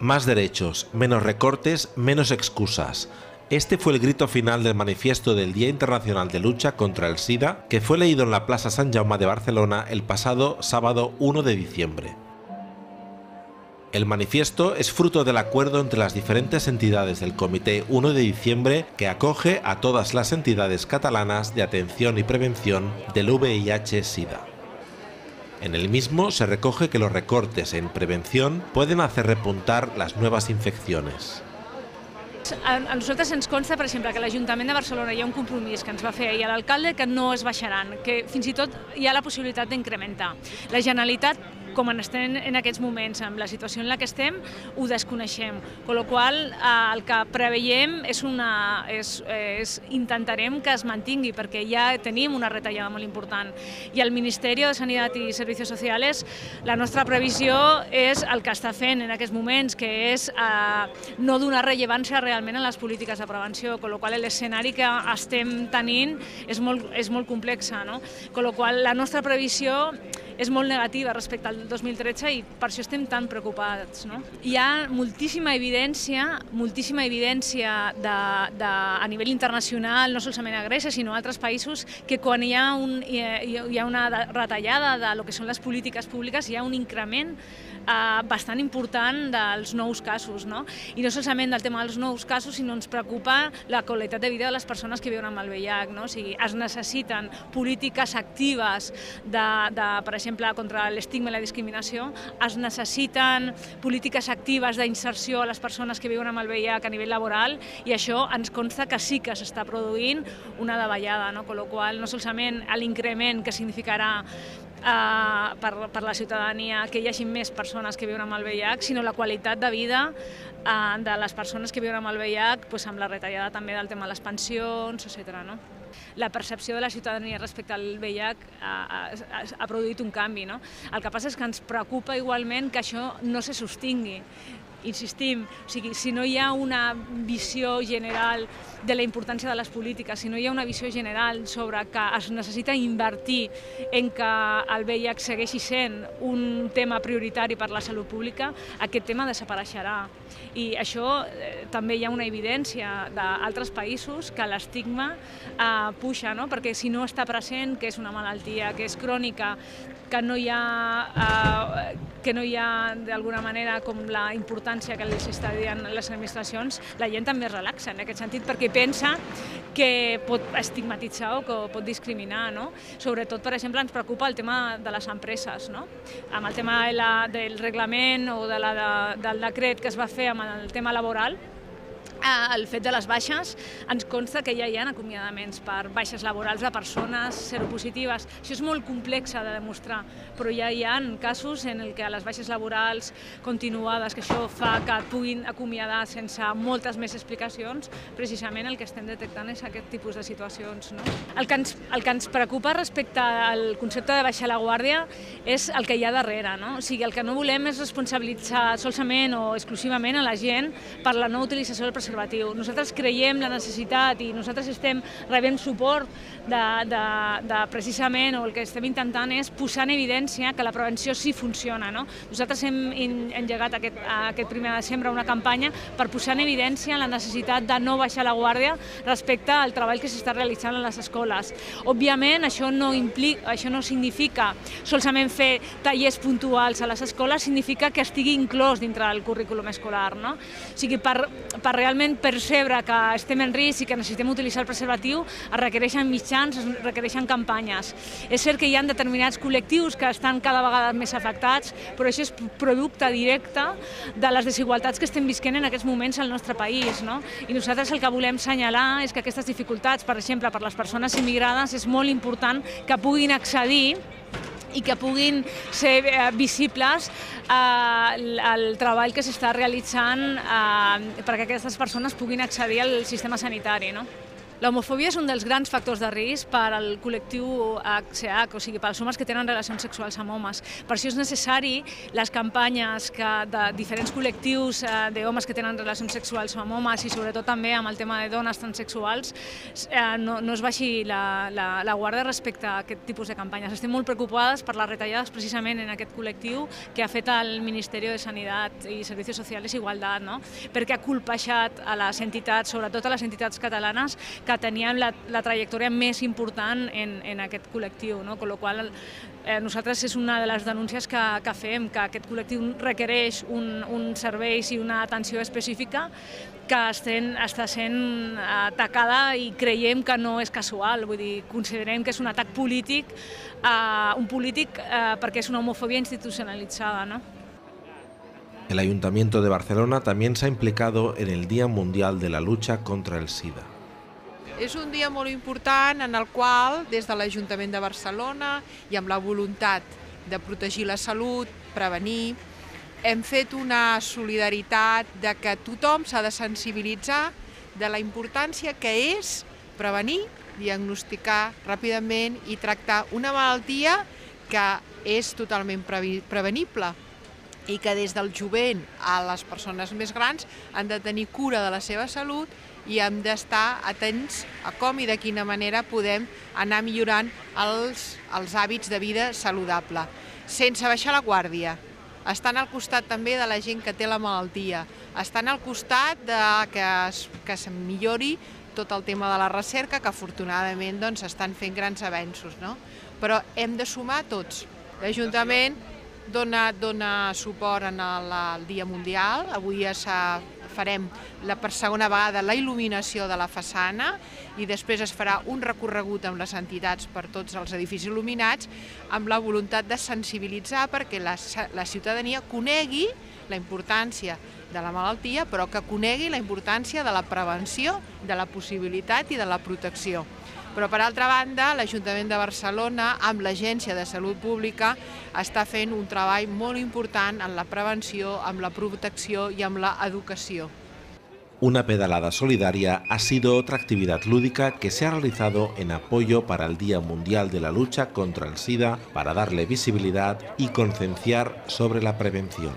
Más derechos, menos recortes, menos excusas. Este fue el grito final del manifiesto del Día Internacional de Lucha contra el SIDA, que fue leído en la Plaza Sant Jaume de Barcelona el pasado sábado 1 de diciembre. El manifiesto es fruto del acuerdo entre las diferentes entidades del Comité 1 de diciembre que acoge a todas las entidades catalanas de atención y prevención del VIH-Sida. En el mismo se recoge que los recortes en prevención pueden hacer repuntar las nuevas infecciones. A nosaltres ens consta, per exemple, que l'Ajuntament de Barcelona hi ha un compromís que ens va fer ahir l'alcalde que no es baixaran, que fins i tot hi ha la possibilitat d'incrementar. La Generalitat, com estem en aquests moments, amb la situació en la que estem, ho desconeixem. Con la qual el que preveiem intentarem que es mantingui, perquè ja tenim una retallada molt important. I el Ministeri de Sanitat i Servicios Sociales, la nostra previsió és el que està fent en aquests moments, que és no donar rellevància realment a les polítiques de prevenció, con la qual l'escenari que estem tenint és molt complex. Con la qual la nostra previsió és molt negativa respecte al 2013 i per això estem tan preocupats. Hi ha moltíssima evidència a nivell internacional, no solament a Grècia, sinó a altres països, que quan hi ha una retallada de lo que són les polítiques públiques, hi ha un increment bastant important dels nous casos. I no solament del tema dels nous casos, sinó ens preocupa la qualitat de vida de les persones que viuen amb el VIH. O sigui, es necessiten polítiques actives per exemple, contra l'estigma i la discriminació, es necessiten polítiques actives d'inserció a les persones que viuen amb el VIH a nivell laboral, i això ens consta que sí que s'està produint una davallada, con la qual no solament l'increment que significarà per la ciutadania que hi hagi més persones que viuen amb el VIH, sinó la qualitat de vida de les persones que viuen amb el VIH, amb la retallada també del tema de les pensions, etc. La percepció de la ciutadania respecte al VIH ha produït un canvi. El que passa és que ens preocupa igualment que això no se sostingui. Insistim, si no hi ha una visió general de la importància de les polítiques, si no hi ha una visió general sobre que es necessita invertir en que el VIH segueixi sent un tema prioritari per la salut pública, aquest tema desapareixerà. I això també hi ha una evidència d'altres països que l'estigma puja, perquè si no està present, que és una malaltia, que és crònica, que no hi ha d'alguna manera com la importància que els està dient les administracions, la gent també es relaxa en aquest sentit perquè pensa que pot estigmatitzar o que pot discriminar. Sobretot, per exemple, ens preocupa el tema de les empreses. Amb el tema del reglament o del decret que es va fer amb el tema laboral, el fet de les baixes, ens consta que ja hi ha acomiadaments per baixes laborals de persones seropositives. Això és molt complex de demostrar, però ja hi ha casos en què les baixes laborals continuades, que això fa que et puguin acomiadar sense moltes més explicacions, precisament el que estem detectant és aquest tipus de situacions. El que ens preocupa respecte al concepte de baixar la guàrdia és el que hi ha darrere. O sigui, el que no volem és responsabilitzar solament o exclusivament a la gent per la no utilització del preservatiu. Nosaltres creiem la necessitat i nosaltres estem rebent suport precisament, o el que estem intentant és posar en evidència que la prevenció sí funciona. Nosaltres hem engegat aquest 1 de desembre una campanya per posar en evidència la necessitat de no baixar la guàrdia respecte al treball que s'està realitzant a les escoles. Òbviament, això no significa solament fer tallers puntuals a les escoles, significa que estigui inclòs dintre del currículum escolar. O sigui, per realment percebre que estem en risc i que necessitem utilitzar el preservatiu, es requereixen mitjans, es requereixen campanyes. És cert que hi ha determinats col·lectius que estan cada vegada més afectats, però això és producte directe de les desigualtats que estem visquent en aquests moments al nostre país. I nosaltres el que volem assenyalar és que aquestes dificultats, per exemple, per les persones immigrades, és molt important que puguin accedir i que puguin ser visibles el treball que s'està realitzant perquè aquestes persones puguin accedir al sistema sanitari. L'homofòbia és un dels grans factors de risc per al col·lectiu HCH, o sigui, pels homes que tenen relacions sexuals amb homes. Per això és necessari les campanyes de diferents col·lectius d'homes que tenen relacions sexuals amb homes i sobretot també amb el tema de dones transsexuals, no es baixi la guàrdia respecte a aquest tipus de campanyes. Estem molt preocupades per les retallades precisament en aquest col·lectiu que ha fet el Ministeri de Sanitat i Servicios Sociales i Igualtat, no? Perquè ha colpejat a les entitats, sobretot a les entitats catalanes, que tenien la trajectòria més important en aquest col·lectiu, no? Con lo qual, nosaltres és una de les denúncies que fem, que aquest col·lectiu requereix uns serveis i una atenció específica que està sent atacada i creiem que no és casual, vull dir, considerem que és un atac polític, perquè és una homofòbia institucionalitzada, no? El Ayuntamiento de Barcelona también se ha implicado en el Día Mundial de la Lucha contra el SIDA. És un dia molt important en el qual, des de l'Ajuntament de Barcelona i amb la voluntat de protegir la salut, prevenir, hem fet una solidaritat de que tothom s'ha de sensibilitzar de la importància que és prevenir, diagnosticar ràpidament i tractar una malaltia que és totalment prevenible i que des del jovent a les persones més grans han de tenir cura de la seva salut i hem d'estar atents a com i de quina manera podem anar millorant els hàbits de vida saludable, sense baixar la guàrdia, estant al costat també de la gent que té la malaltia, estant al costat que es millori tot el tema de la recerca, que afortunadament estan fent grans avenços, no? Però hem de sumar tots. L'Ajuntament dona suport al Dia Mundial, avui farem per segona vegada la il·luminació de la façana i després es farà un recorregut amb les entitats per tots els edificis il·luminats amb la voluntat de sensibilitzar perquè la ciutadania conegui la importància de la malaltia, però que conegui la importància de la prevenció, de la possibilitat i de la protecció. Però, per altra banda, l'Ajuntament de Barcelona, amb l'Agència de Salut Pública, està fent un treball molt important en la prevenció, amb la protecció i amb l'educació. Una pedalada solidaria ha sido otra actividad lúdica que se ha realizado en apoyo para el Día Mundial de la Lucha contra el SIDA para darle visibilidad y concienciar sobre la prevención.